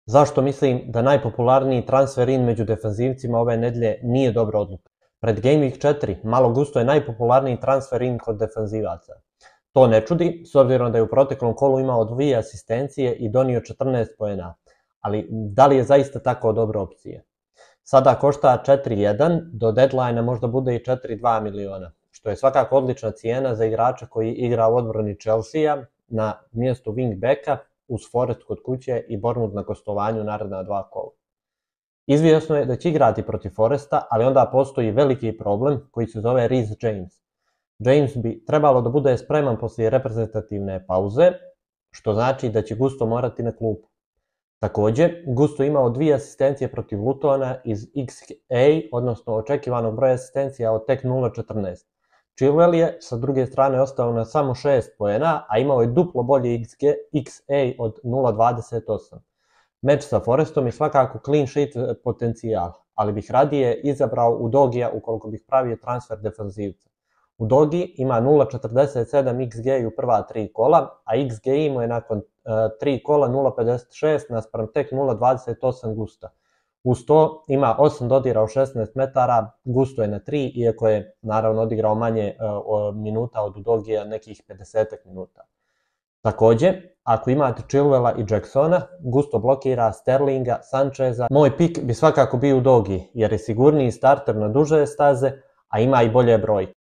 Zašto mislim da najpopularniji transfer in među defanzivcima ove nedelje nije dobra odluka? Pred Game Week 4 Malo Gusto je najpopularniji transfer in kod defanzivaca. To ne čudi, s obzirom da je u proteklom kolu imao 2 asistencije i donio 14 poena. Ali da li je zaista tako dobra opcija? Sada košta 4.1, do deadline možda bude i 4.2 miliona, što je svakako odlična cijena za igrača koji igra u odbrani Chelsea na mjestu wingbacka, uz Forest kod kuće i Bournemouth na gostovanju naredna 2 kola. Izvjesno je da će igrati protiv Foresta, ali onda postoji veliki problem koji se zove Reece James. James bi trebalo da bude spreman poslije reprezentativne pauze, što znači da će Gusto morati na klupu. Također, Gusto imao 2 asistencije protiv Lutona iz XA, odnosno očekivanog broja asistencija od tek 0.14. Chilwell je sa druge strane ostao na samo 6 poena, a imao je duplo bolje XA od 0.28. Meč sa Forestom je svakako clean sheet potencijal, ali bih radije izabrao Udogija ukoliko bih pravio transfer defanzivca. Udogi ima 0.47 XG u prva 3 kola, a XG mu je nakon 3 kola 0.56 naspram tek 0.28 Gusta. Uz to ima 8 dodira u 16 metara, Gusto je na 3, iako je naravno odigrao manje minuta od Udogija, nekih 50 minuta. Također, ako imate Chilwella i Jacksona, Gusto blokira Sterlinga, Sancheza. Moj pik bi svakako bio Udogi, jer je sigurniji starter na duže staze, a ima i bolje brojke.